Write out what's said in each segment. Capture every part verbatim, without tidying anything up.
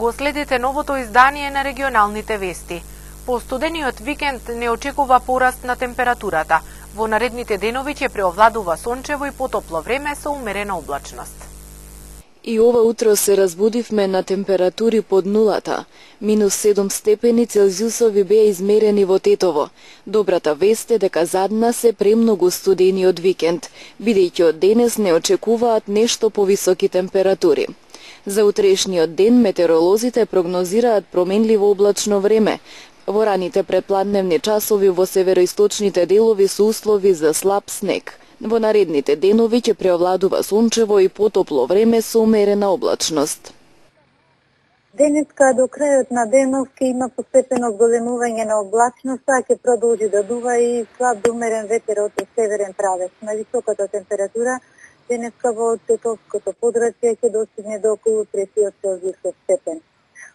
го следите новото издание на регионалните вести. По студениот викенд не очекува пораст на температурата. Во наредните денови ќе преовладува сончево и потопло време со умерена облачност. И ова утро се разбудивме на температури под нулата. Минус седум степени Целзиусови беа измерени во Тетово. Добрата вест е дека зад нас се премногу студениот викенд, бидејќи од денес не очекуваат нешто повисоки температури. За утрешниот ден метеоролозите прогнозираат променливо облачно време. Во раните предпладневни часови во североисточните делови се услови за слаб снег. Во наредните денови ќе преовладува сончево и потопло време со умерена облачност. Денеска до крајот на денов ќе има постепено зголемување на облачноста, ќе продолжи да дува и слаб до умерен ветер од северен правец. Највисоката температура денеска во Тетовското подрачје ќе достигне до околу третиот Целзиусов степен.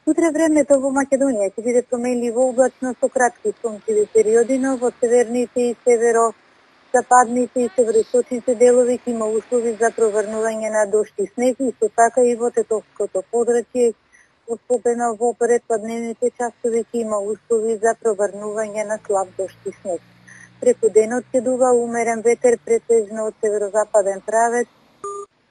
Утре времето во Македонија ќе биде променливо облачно со кратки сончеви периоди, но во северните и северо-западните и североисточните делови ќе има услови за проврнување на дожд и снег, исто така и во Тетовското подрачје, особено во предпладневните часови ќе има услови за проврнување на слаб дожд и снег. Преку денот ќе дува умерен ветер претежно од северозападен правец,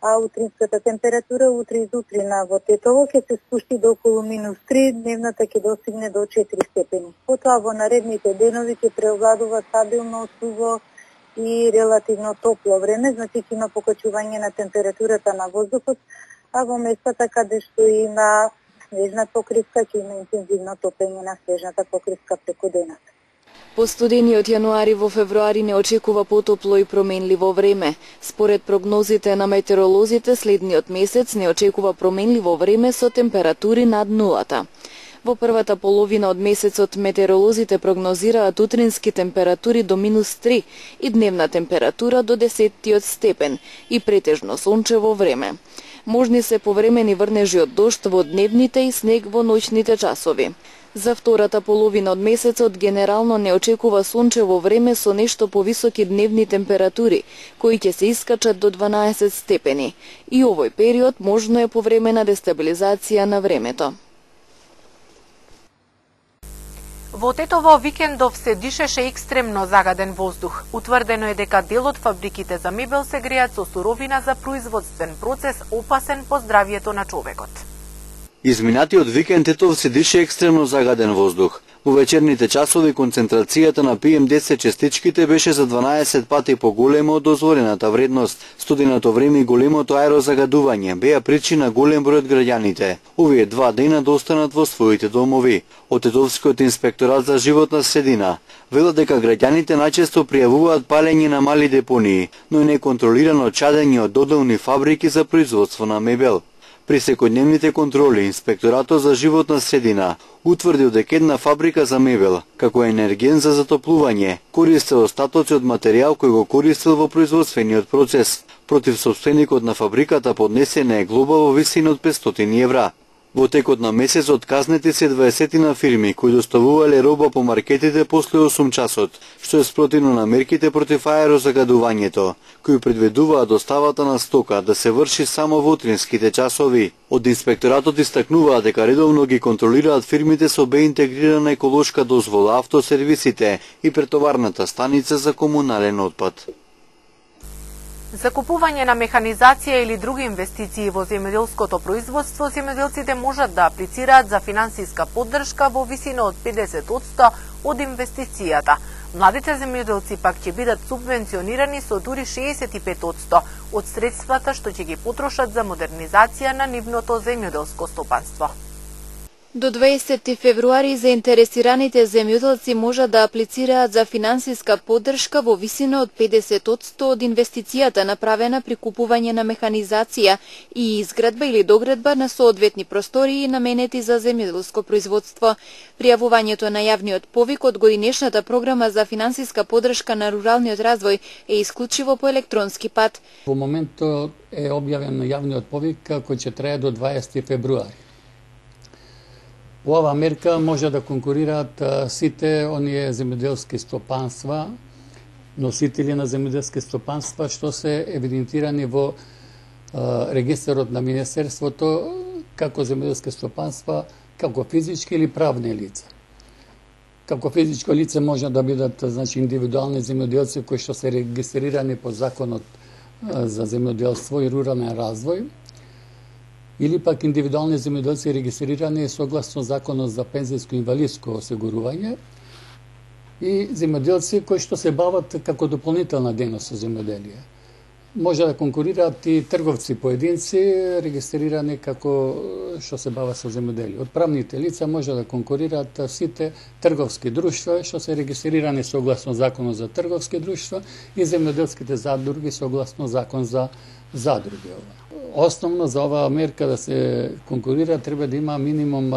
а утринската температура утре изутрина во Тетово ќе се спушти до околу минус три, дневната ќе достигне до четири степени. Потоа во наредните денови ќе преовладува стабилно, суво и релативно топло време, значи ќе има покачување на температурата на воздухот, а во местата каде што има снежна покривка ќе има интензивно топење на снежната покривка преку денот. По студениот јануари во февруари не очекува потопло и променливо време. Според прогнозите на метеоролозите, следниот месец не очекува променливо време со температури над нулата. Во првата половина од месецот метеоролозите прогнозираат утрински температури до минус три и дневна температура до десеттиот степен и претежно сончево време. Можни се повремени врнежи од дожд во дневните и снег во ноќните часови. За втората половина од месецот генерално не очекува сончево време со нешто повисоки дневни температури, кои ќе се искачат до дванаесет степени. И овој период можно е повремена дестабилизација на времето. Во Тетово викендов се дишеше екстремно загаден воздух. Утврдено е дека дел од фабриките за мебел се греат со суровина за производствен процес опасен по здравјето на човекот. Изминатиот викенд Тетово се дише екстремно загаден воздух. Во вечерните часови концентрацијата на пи ем десет частичките беше за дванаесет пати поголема од дозволената вредност. Студеното време и големото аерозагадување беа причина голем број од граѓаните. Овие два дена да останат во своите домови. Од Тетовскиот инспекторат за животна средина велат дека граѓаните најчесто пријавуваат палење на мали депонии, но и неконтролирано чадење од доделни фабрики за производство на мебел. При секојдневните контроли, Инспекторатот за животна средина утврдил дека една фабрика за мебел, како енерген за затоплување, користел остатоци од материјал кој го користел во производствениот процес. Против собственикот на фабриката поднесена е глоба во висина од петстотини евра. Во текот на месецот казнети се дваесет фирми кои доставувале роба по маркетите после осум часот, што е спротивно на мерките против аерозагадувањето, кои предвидуваат доставата на стока да се врши само во утринските часови. Од инспекторатот истакнуваат дека редовно ги контролираат фирмите со бе интегрирана еколошка дозвола, автосервисите и претоварната станица за комунален отпад. Закупување на механизација или други инвестиции во земјоделското производство, земјоделците можат да аплицираат за финансиска поддршка во висина од педесет одсто од инвестицијата. Младите земјоделци пак ќе бидат субвенционирани со дури шеесет и пет одсто од средствата што ќе ги потрошат за модернизација на нивното земјоделско стопанство. До дваесети февруари заинтересираните земјоделци можат да аплицираат за финансиска поддршка во висина од педесет одсто од инвестицијата направена при купување на механизација и изградба или доградба на соодветни простории наменети за земјоделско производство. Пријавувањето на јавниот повик од годинешната програма за финансиска поддршка на руралниот развој е исклучиво по електронски пат. Во моментот е објавен јавниот повик кој ќе трае до дваесети февруари. По оваа мерка може да конкурираат сите оние земјоделски стопанства, носители на земјоделски стопанства што се евидентирани во регистарот на Министерството како земјоделски стопанства, како физички или правни лица. Како физичко лице може да бидат, значи, индивидуални земјоделци кои што се регистрирани по законот за земјоделство и рурален развој, или пак индивидуални земјоделци регистрирани согласно законот за пензијско и инвалидско осигурување, и земјоделци кои што се бават како дополнителна дејност со земјоделие. Може да конкурираат и трговци поединци регистрирани како што се бават со земјоделие. Од правните лица може да конкурираат сите трговски друштва што се регистрирани согласно законот за трговски друштва и земјоделските задруги согласно закон за задруги. Основно за оваа мерка да се конкурира треба да има минимум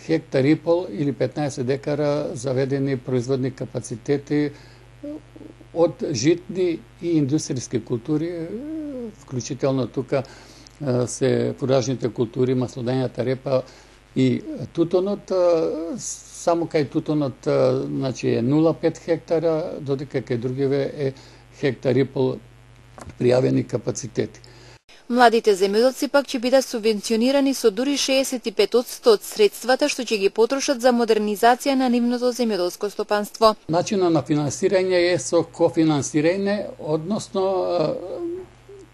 хектар и пол или петнаесет декара заведени производни капацитети од житни и индустријски култури, вклучително тука се фуражните култури, маслодењата репа и тутунот. Само кај тутунот, значи, е нула целу пет хектара, додека кај другиве е хектар и пол пријавени капацитети. Младите земјоделци пак ќе бидат субвенционирани со дури шеесет и пет одсто од средствата што ќе ги потрошат за модернизација на нивното земјоделско стопанство. Начинот на финансирање е со кофинансирање, односно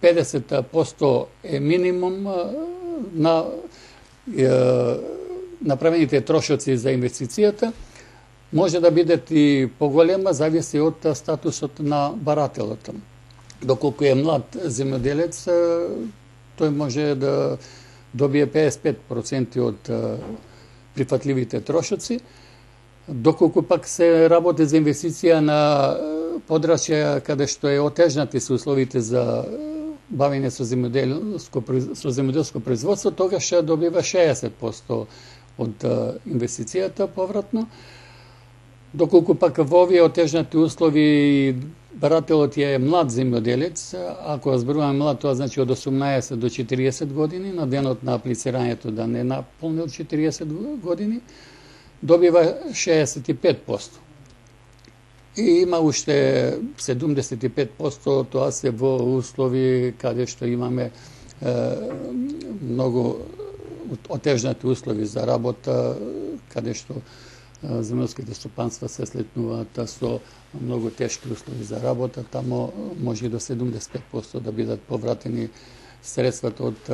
педесет одсто е минимум на направените трошоци за инвестицијата. Може да бидат и поголема, зависи од статусот на барателот. Доколку е млад земјоделец, тој може да добие педесет и пет проценти од прифатливите трошоци. Доколку пак се работи за инвестиција на подрачја каде што е отежнати се условите за бавење со земјоделско со земјоделско производство, тогаш ќе добива шеесет одсто од инвестицијата повратно. Доколку пак во овие отежнати услови барателот е млад земјоделец, ако зборуваме млад, тоа значи од осумнаесет до четириесет години, на денот на аплицирањето да не наполнил четириесет години, добива шеесет и пет одсто. И има уште седумдесет и пет одсто, тоа се во услови каде што имаме е, многу отежнати услови за работа, каде што земјоделските стопанства се слетнуваат со многу тешки услови за работа, тамо може и до седумдесет и пет одсто да бидат повратени средствата од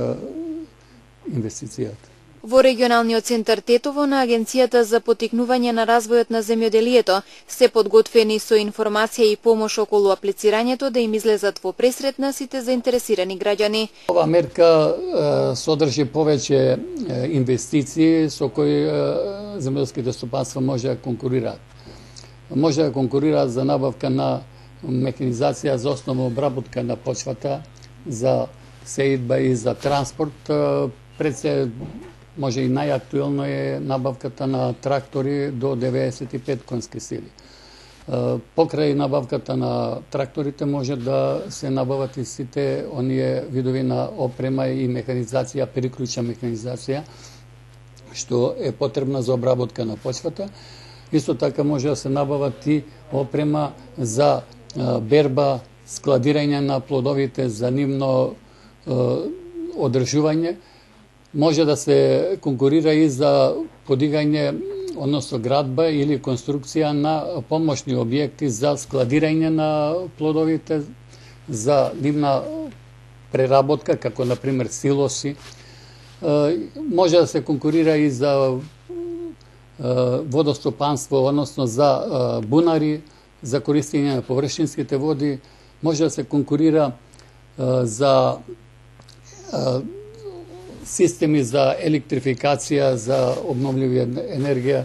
инвестицијата. Во регионалниот центар Тетово на Агенцијата за поттикнување на развојот на земјоделието се подготвени со информација и помош околу аплицирањето да им излезат во пресрет на сите заинтересирани граѓани. Ова мерка е, содржи повеќе е, инвестиции со кои земјоделските стопанства може да конкурираат. Може да конкурираат за набавка на механизација за основна обработка на почвата, за сеидба и за транспорт. Пред се може и најактуелно е набавката на трактори до деветдесет и пет конски сили. Покрај набавката на тракторите може да се набават и сите оние видови на опрема и механизација, приклучна механизација, што е потребна за обработка на почвата. Исто така може да се набават и опрема за берба, складирање на плодовите, за нивно одржување. Може да се конкурира и за подигање, односно градба или конструкција на помошни објекти за складирање на плодовите, за нивна преработка, како например силоси. Може да се конкурира и за водостопанство, односно за бунари, за користење на површинските води. Може да се конкурира за системи за електрификација, за обновливи енергија.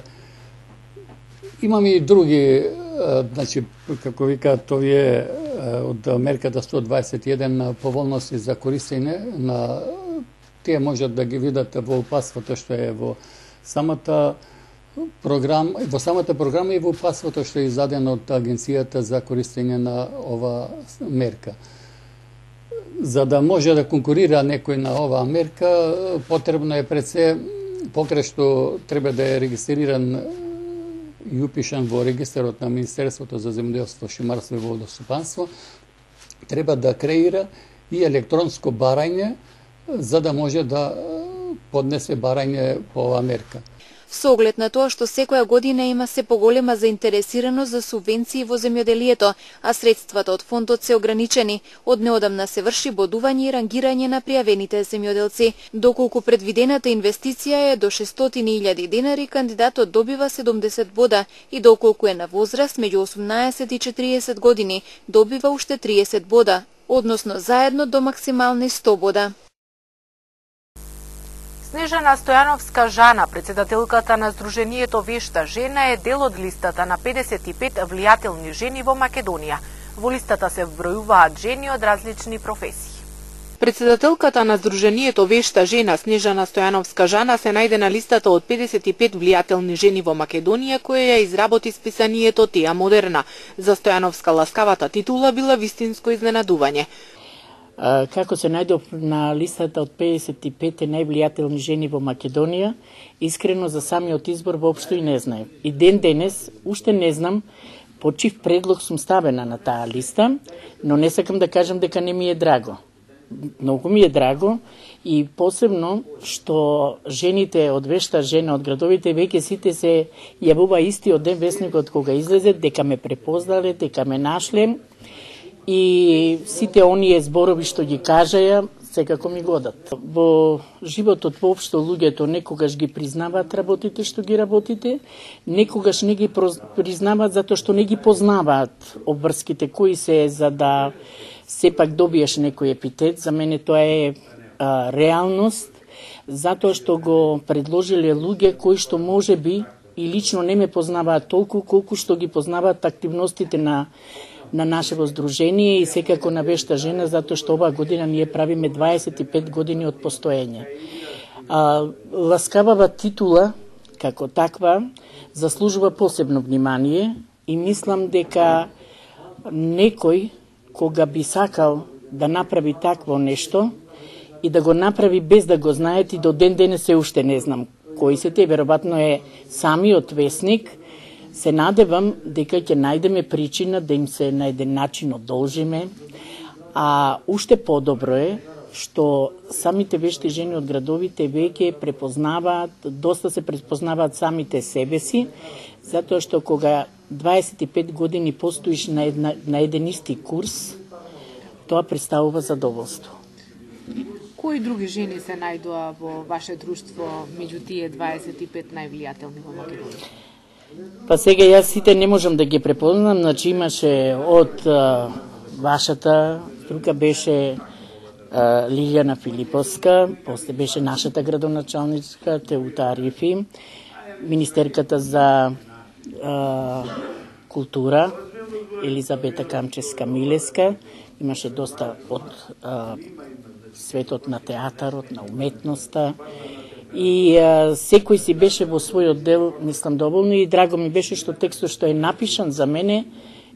Имаме и други, значи, како викаат овие од мерката сто дваесет и еден поволности за користење на тие можат да ги видат во упатството што е во самата програма, во самата програма и во упатството што е издадено од Агенцијата за користење на ова мерка. За да може да конкурира некој на оваа мерка, потребно е пред се, покрај што треба да е регистриран и упишан во регистарот на Министерството за земјоделство, шумарство и водостопанство, треба да креира и електронско барање, за да може да поднесе барање по оваа мерка. Со оглед на тоа што секоја година има се поголема заинтересираност за субвенции во земјоделието, а средствата од фондот се ограничени, од неодамна се врши бодување и рангирање на пријавените земјоделци. Доколку предвидената инвестиција е до шестстотини илјади денари, кандидатот добива седумдесет бода и доколку е на возраст меѓу осумнаесет и четириесет години, добива уште триесет бода, односно заедно до максимални сто бода. Снежана Стојановска Жана, председателката на Сдруженијето Вешта жена, е дел од листата на педесет и пет влијателни жени во Македонија. Во листата се вбројуваат жени од различни професии. Председателката на Сдруженијето Вешта жена Снежана Стојановска Жана се најде на листата од педесет и пет влијателни жени во Македонија, која ја изработи списанието Теа Модерна. За Стојановска ласкавата титула била вистинско изненадување. Како се најдов на листата од педесет и пет највлијателни жени во Македонија, искрено за самиот избор воопшто и не знаев. И ден денес уште не знам по чив предлог сум ставена на таа листа, но не сакам да кажам дека не ми е драго. Многу ми е драго и посебно што жените од Вешта жена од градовите веќе сите се јавува истиот ден весникот кога излезе, дека ме препознале, дека ме нашле. И сите оние зборови што ги кажаја, секако ми годат. Во животот воопшто луѓето некогаш ги признаваат работите што ги работите, некогаш не ги признаваат затоа што не ги познаваат обврските кои се за да сепак добиеш некој епитет. За мене тоа е а, реалност, затоа што го предложиле луѓе кои што може би и лично не ме познаваат толку колку што ги познаваат активностите на на нашето здружение и секако на Вешта жена, затоа што оваа година ние правиме дваесет и пет години од постоење. А, ласкавава титула, како таква, заслужува посебно внимание и мислам дека некој кога би сакал да направи такво нешто и да го направи без да го знаете, и до ден денес се уште не знам кои се те, веројатно е самиот весник. Се надевам дека ќе најдеме причина да им се на еден начин одолжиме, а уште подобро е што самите вешти жени од градовите веќе препознаваат, доста се препознаваат самите себе си, затоа што кога дваесет и пет години постоиш на, една, на еден исти курс, тоа представува задоволство. Кои други жени се најдоа во ваше друштво меѓу тие дваесет и пет највлијателни во Македонија? Па сега јас сите не можам да ги препознам, значи имаше од а, вашата струка беше а, Лилјана Филиповска, после беше нашата градоначалничка Теута Арифи, министерката за а, култура Елизабета Камческа-Милеска, имаше доста од а, светот на театарот, на уметноста. И а, секој си беше во својот дел, мислам, доволно, и драго ми беше што текстот што е напишан за мене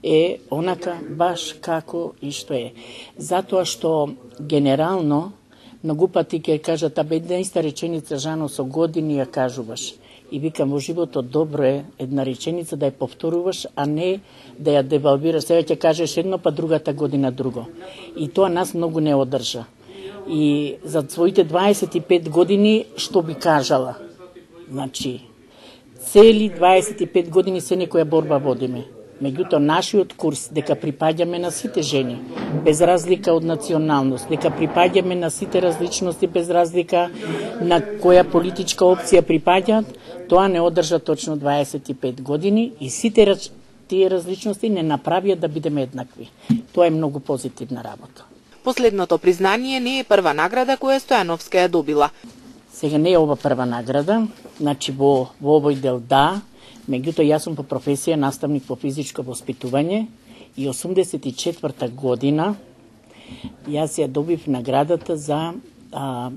е онака баш како и што е. Затоа што генерално многу пати ќе кажат, абе една иста реченица, Жано, со години ја кажуваш. И викам, во животот добро е една реченица да ја повторуваш, а не да ја девалвираш. Сега ќе кажеш едно, па другата година друго. И тоа нас многу не одржа. И за своите дваесет и пет години што би кажала? Значи, цели дваесет и пет години се некоја борба водиме. Меѓутоа, нашиот курс дека припаѓаме на сите жени, без разлика од националност, дека припаѓаме на сите различности, без разлика на која политичка опција припаѓаат, тоа не одржа точно дваесет и пет години и сите тие различности не направија да бидеме еднакви. Тоа е многу позитивна работа. Последното признание не е прва награда која Стојановска ја добила. Сега не е ова прва награда, значи во, во овој дел да, меѓутоа јас сум по професија наставник по физичко воспитување и осумдесет и четврта година јас ја добив наградата за а,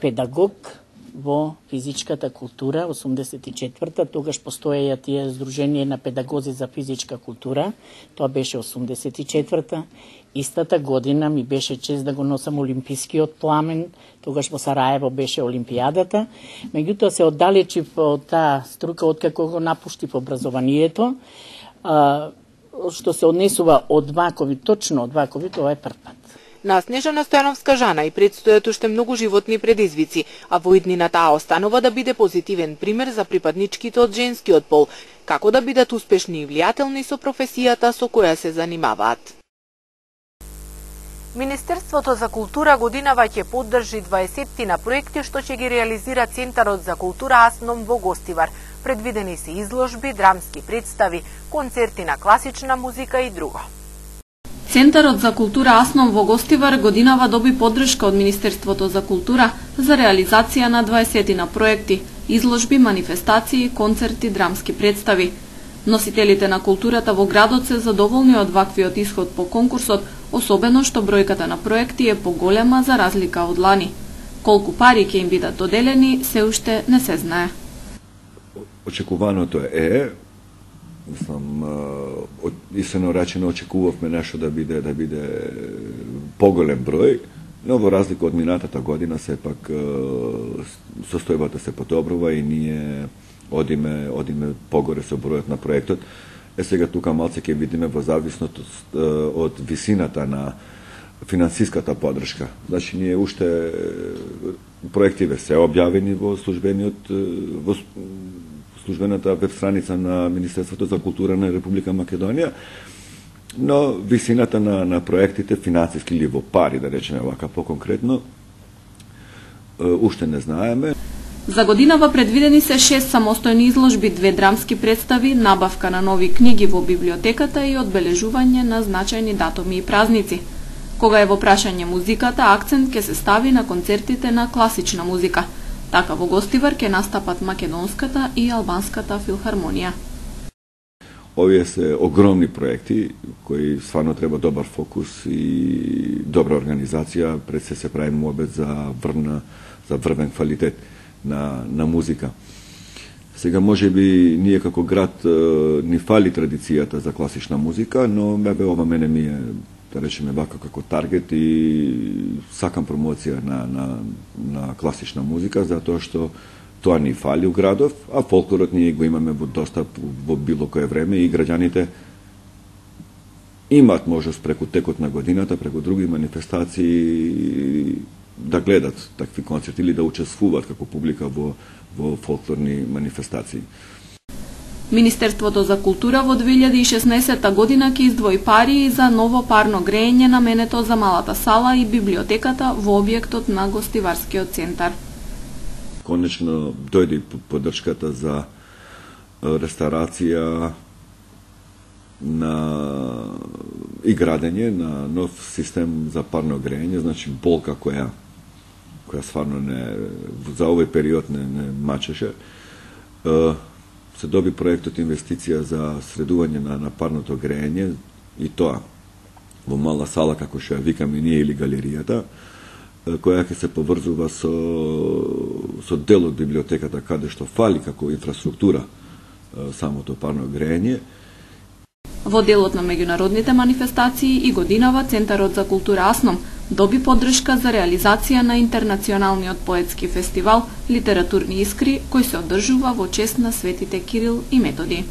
педагог во физичката култура, осумдесет и четврта, тогаш постоеја тие Сдружение на педагози за физичка култура, тоа беше осумдесет и четврта. Истата година ми беше чест да го носам олимпискиот пламен, тогаш во Сараево беше олимпијадата. Меѓутоа се оддалечив од таа струка откако го напуштив образованието, а, што се однесува од вакови, точно од вакови, тоа е прв пат. На Снежана Стојановска Жана и предстојат уште многу животни предизвици, а во иднина таа останува да биде позитивен пример за припадничките од женскиот пол, како да бидат успешни и влијателни со професијата со која се занимаваат. Министерството за култура годинава ќе поддржи дваесеттина проекти што ќе ги реализира Центарот за култура Асном во Гостивар. Предвидени се изложби, драмски представи, концерти на класична музика и друго. Центарот за култура Асном во Гостивар годинава доби поддршка од Министерството за култура за реализација на дваесеттина проекти, изложби, манифестации, концерти, драмски представи. Носителите на културата во градот се задоволни од ваквиот исход по конкурсот, особено што бројката на проекти е поголема за разлика од лани. Колку пари ќе им бидат доделени, се уште не се знае. Очекуваното е, мислам, истинно речено очекувавме нешто да биде да биде поголем број, но во разлика од минатата година сепак состојбата се подобрува и ние одиме одиме погоре со бројот на проектот. Е сега тука малце ќе видиме во зависност од висината на финансиската поддршка. Значи ние уште проективе се објавени во службениот во службената веб страница на Министерството за култура на Република Македонија, но висината на на проектите финансиски или во пари, да речеме вака поконкретно, уште не знаеме. За годинава предвидени се шест самостојни изложби, две драмски представи, набавка на нови книги во библиотеката и одбележување на значајни датуми и празници. Кога е во прашање музиката, акцент ќе се стави на концертите на класична музика. Така во Гостивар ќе настапат македонската и албанската филхармонија. Овие се огромни проекти кои стварно треба добар фокус и добра организација, пред се се прави муабет за врна, за врвен квалитет на на музика. Сега можеби ние како град ни фали традицијата за класична музика, но бе ова мене ми е, да речеме вака, како таргет и сакам промоција на на на класична музика, затоа што тоа ни фали у градов, а фолклорот ние го имаме во достап во било кое време и граѓаните имаат можност преку текот на годината, преку други манифестации да гледат такви концерти или да учествуваат како публика во во фолклорни манифестации. Министерството за култура во две илјади и шеснаесетта година ќе издвои пари за ново парно грејење наменето за малата сала и библиотеката во објектот на Гостиварскиот центар. Конечно дојде и поддршката за реставрација на и градење на нов систем за парно грејење, значи болка која која стварно не за овој период не, не мачеше. Се доби проектот инвестиција за средување на, на парното грејење и тоа во мала сала, како што ја викаме ние, или галеријата, која ќе се поврзува со со дел од библиотеката каде што фали како инфраструктура самото парно грејење. Во делот на меѓународните манифестации и годинава Центарот за култура Асном доби поддршка за реализација на интернационалниот поетски фестивал Литературни искри, кој се одржува во чест на светите Кирил и Методи.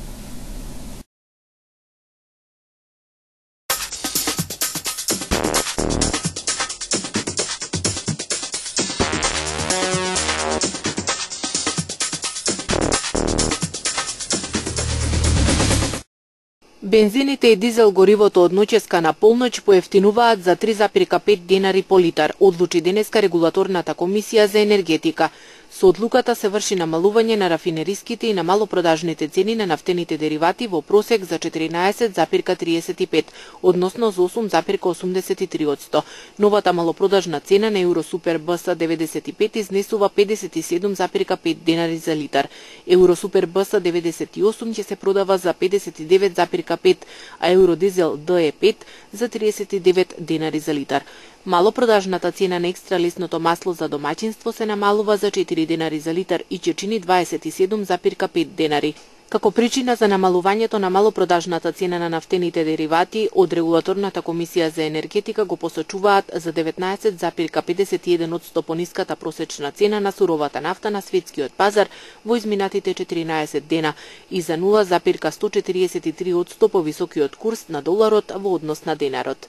Бензините и дизел горивото од ноќеска на полноќ поевтинуваат за три зарем пет денари по литар, одлучи денеска регулаторната комисија за енергетика. Со одлуката се врши намалување на рафинериските и на малопродажните цени на нафтените деривати во просек за четиринаесет зарем триесет и пет, односно за осум зарем осумдесет и три одсто. Новата малопродажна цена на Евросупер БС деветдесет и пет изнесува педесет и седум зарем пет денари за литар. Евросупер БС деветдесет и осум ќе се продава за педесет и девет зарем пет, а Евродизел Д Е пет за триесет и девет денари за литар. Малопродажната цена на екстра лесното масло за домаќинство се намалува за четири денари за литар и ќе чини дваесет и седум зарем пет денари. Како причина за намалувањето на малопродажната цена на нафтените деривати, од регулаторната комисија за енергетика го посочуваат за деветнаесет зарем педесет и еден одсто пониската просечна цена на суровата нафта на светскиот пазар во изминатите четиринаесет дена и за нула зарем сто четириесет и три одсто повисокиот курс на доларот во однос на денарот.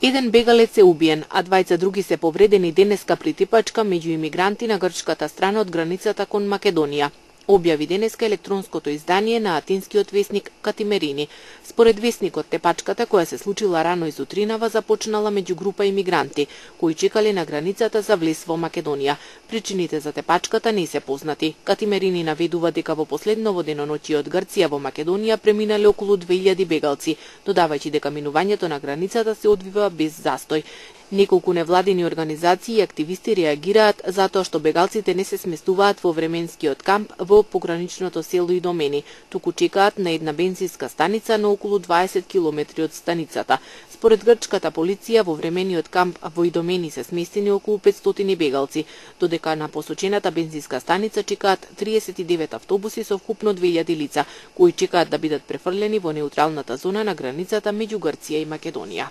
Еден бегалец е убиен, а двајца други се повредени денеска при типачка меѓу имигранти на грчката страна од границата кон Македонија, објави денеска електронското издание на атинскиот весник Катимерини. Според весникот, тепачката која се случила рано изутринава започнала меѓу група имигранти кои чекале на границата за влез во Македонија. Причините за тепачката не се познати. Катимерини наведува дека во последново деноноќие од Грција во Македонија преминале околу две илјади бегалци, додавајќи дека минувањето на границата се одвива без застој. Неколку невладини организации и активисти реагираат затоа што бегалците не се сместуваат во временскиот камп во пограничното село Идомени, туку чекаат на една бензинска станица на околу дваесет километри од станицата. Според грчката полиција, во времениот камп во Идомени се сместени околу петстотини бегалци, додека на посочената бензинска станица чекаат триесет и девет автобуси со вкупно две илјади лица, кои чекаат да бидат префрлени во неутралната зона на границата меѓу Грција и Македонија.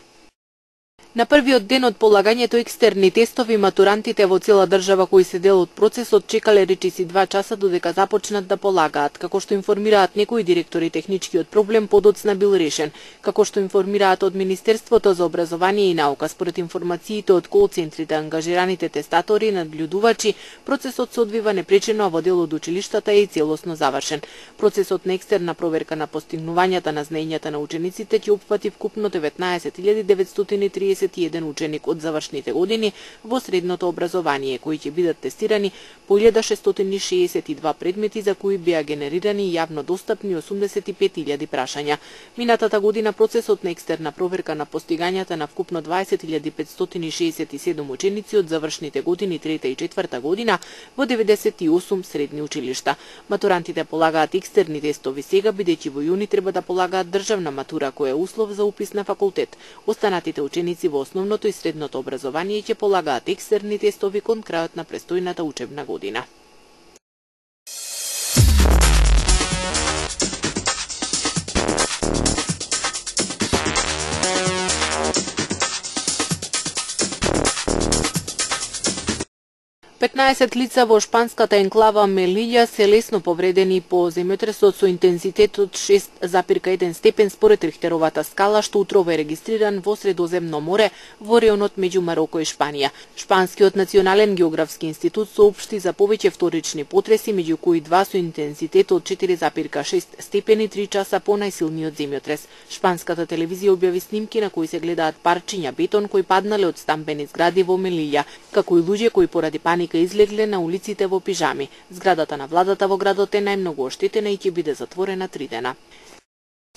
На првиот ден од полагањето екстерни тестови, матурантите во цела држава кои се дел од процесот чекале речиси два часа додека започнат да полагаат. Како што информираат некои директори, техничкиот проблем подоцна бил решен. Како што информираат од Министерството за образование и наука, според информациите од кол-центрите, ангажираните тестатори и надлюдувачи, процесот се одвива непречено, а во дел од училиштата е и целосно завршен. Процесот на екстерна проверка на постигнувањата на знаењата на учениците ќе опфати вкупно деветнаесет илјади деветстотини и триесет и еден ученик од завршните години во средното образование, кои ќе бидат тестирани по илјада шестстотини шеесет и два предмети за кои беа генерирани јавно достапни осумдесет и пет илјади прашања. Минатата година процесот на екстерна проверка на постигањата на вкупно дваесет илјади петстотини шеесет и седум ученици од завршните години трета и четврта година во деветдесет и осум средни училишта. Матурантите полагаат екстерни тестови сега, бидејќи во јуни треба да полагаат државна матура, која е услов за упис на факултет. Останатите ученици во основното и средното образование ќе полагаат екстерни тестови кон крајот на престојната учебна година. петнаесет лица во шпанската енклава Мелиља се лесно повредени по земјотресот со интензитет од шест запирка еден степен според Рихтеровата скала, што утрово е регистриран во Средоземно море во реонот меѓу Мароко и Шпанија. Шпанскиот национален географски институт соопшти за повеќе вторични потреси, меѓу кои два со интензитет од четири запирка шест степени три часа по најсилниот земјотрес. Шпанската телевизија објави снимки на кои се гледаат парчиња бетон кои паднале од стамбени згради во Мелиља, како и луѓе кои поради паника излегле на улиците во пижами. Зградата на владата во градот е најмногу оштетена и ќе биде затворена три дена.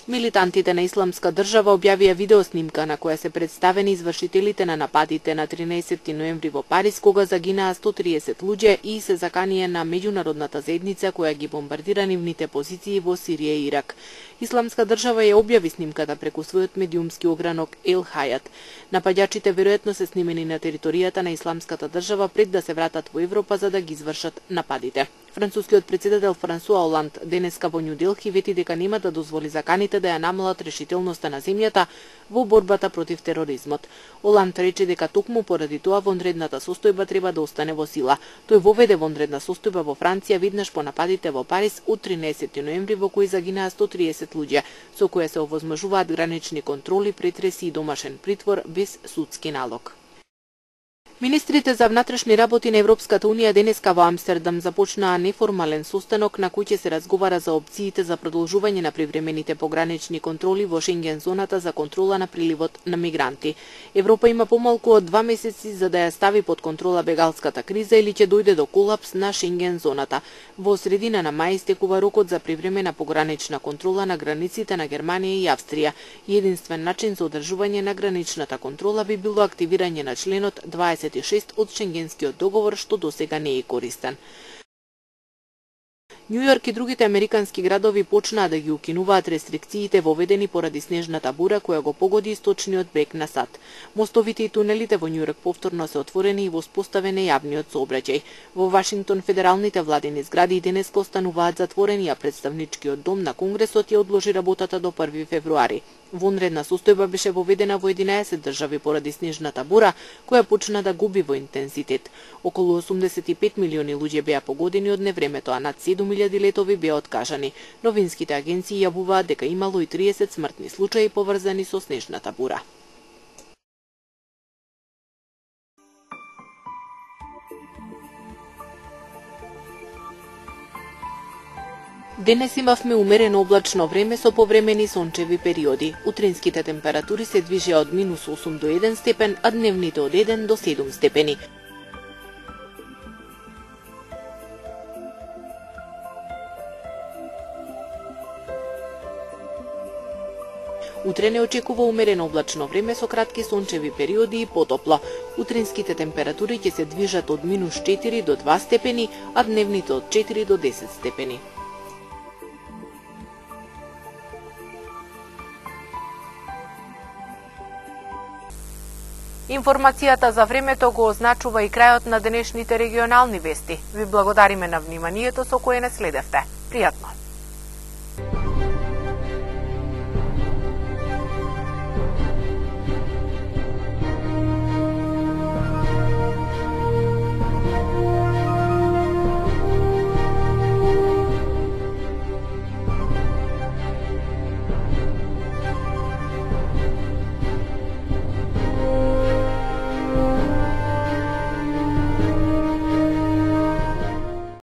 Милитантите на Исламска држава објавија видеоснимка на која се представени извршителите на нападите на тринаесетти ноември во Париз, кога загинаа сто триесет луѓе и се заканија на меѓународната заедница која ги бомбардира нивните позиции во Сирија и Ирак. Исламска држава ја објави снимката преку својот медиумски огранок Ел Хајат. Напаѓачите веројатно се снимени на територијата на Исламската држава пред да се вратат во Европа за да ги извршат нападите. Францускиот председател Франсуа Оланд денеска во Њу Делхи вети дека нема да дозволи заканите да ја намалат решителноста на земјата во борбата против тероризмот. Оланд рече дека токму поради тоа вонредната состојба треба да остане во сила. Тој воведе вонредна состојба во Франција веднаш по нападите во Париз од тринаесетти ноември во кои загинаа сто триесет луѓе, со која се овозможуваат гранични контроли, претреси и домашен притвор без судски налог. Министрите за внатрешни работи на Европската унија денеска во Амстердам започнаа неформален состанок на кој ќе се разговара за опциите за продолжување на привремените погранични контроли во Шенген зоната за контрола на приливот на мигранти. Европа има помалку од два месеци за да ја стави под контрола бегалската криза или ќе дојде до колапс на Шенген зоната. Во средина на мај истекува рокот за привремена погранична контрола на границите на Германија и Австрија. Единствен начин за одржување на граничната контрола би било активирање на членот дваесет и шест од Шенгенскиот договор, што досега не е користен. Њу Јорк и другите американски градови почнаа да ги укинуваат рестрикциите воведени поради снежната бура која го погоди источниот брег на САД. Мостовите и тунелите во Њу Јорк повторно се отворени и воспоставен е јавниот сообраќај. Во Вашингтон федералните владини згради денес остануваат затворени, а представничкиот дом на Конгресот ја одложи работата до први февруари. Вонредна состојба беше воведена во единаесет држави поради снежната бура, која почна да губи во интензитет. Околу осумдесет и пет милиони луѓе беа погодени од невремето, а над седум илјади летови беа откажани. Новинските агенции јавуваат дека имало и триесет смртни случаи поврзани со снежната бура. Денес имавме умерено облачно време со повремени сончеви периоди. Утринските температури се движеа од минус осум до еден степен, а дневните од еден до седум степени. Утре не очекува умерено облачно време со кратки сончеви периоди и потопло. Утринските температури ќе се движат од минус четири до два степени, а дневните од четири до десет степени. Информацијата за времето го означува и крајот на денешните регионални вести. Ви благодариме на вниманието со кое не следевте. Пријатно!